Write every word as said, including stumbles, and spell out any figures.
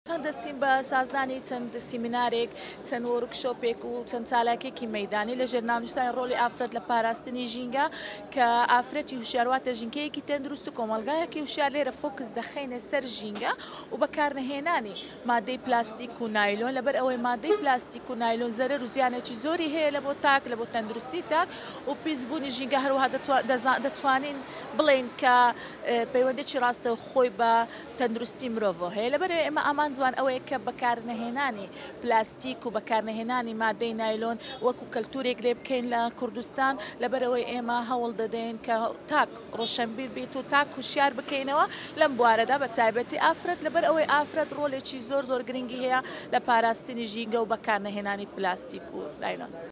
دەستین بە سازدانی چەند سیمینارێک، چەند وۆرکشۆپێک و چەند چالاکێکی مەیدانی لە ژێر ناونیشانی ڕۆڵی ئافرەت لە پاراستنی ژینگە، کە ئافرەتی هوشیار واتە ژینگەیەکی تەندروست و کۆمەڵگایەکی هوشیار. لێرە focus دەخەینە سەر ژینگە و بەکارنەهێنانی مادەی پلاستیک و نایلۆن، لەبەر ئەوەی مادەی پلاستیک و نایلۆن زەرەر و زیانێکی زۆری هەیە لە بۆ تاک، لە بۆ تەندروستی تاک و پیسبوونی ژینگە. هەروەها دەتوانین بڵێین کە پەیوەندێکی ڕاستە خۆی بە تەندروستی مرۆڤەوە هەیە. لەبەر ئێمە ئامانجمان ئەوەیە کە بەکارنەهێنانی پلاستیک و بەکارنەهێنانی مادەی نایلۆن وەکو کەلتورێک لێ بکەین لە کوردستان. لەبەرەوەی ئێمە هەوڵ دەدەین کە تاک ڕۆشنبیر بیت و تاک هوشیار بکەینەوە لەم بوارەدا، بە تایبەتی ئافرەت، لەبەر ئەوەی ئافرەت ڕۆلێکی زۆر زۆر گرنگی هەیە لە پاراستنی ژینگە و بەکارنەهێنانی پلاستیک و نایلۆن.